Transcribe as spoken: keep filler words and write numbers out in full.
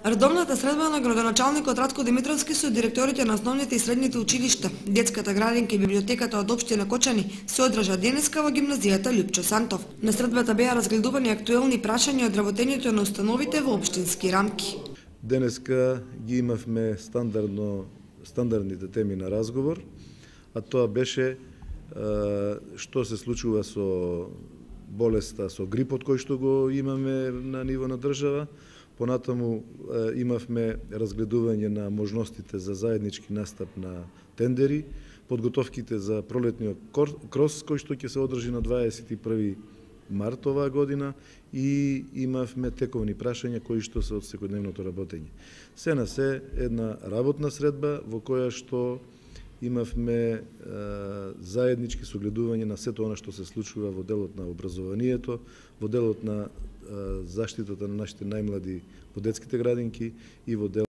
Редовната средба на градоначалникот Радко Димитровски со директорите на основните и средните училишта, детската градинка и библиотеката од општина Кочани се одржа денеска во гимназијата Лјупчо Сантов. На средбата беа разгледувани актуелни прашања од работењето на установите во општински рамки. Денеска ги имавме стандардно стандардните теми на разговор, а тоа беше што се случува со болеста, со грипот кој што го имаме на ниво на држава. Понатаму имавме разгледување на можностите за заеднички настап на тендери, подготовките за пролетниот крос кој што ќе се одржи на дваесет и први март оваа година и имавме тековни прашања кои што се од секојдневното работење. Се на се една работна средба во која што имавме е, заеднички согледување на сето она што се случува во делот на образованието, во делот на е, заштитата на нашите најмлади во детските градинки и во делот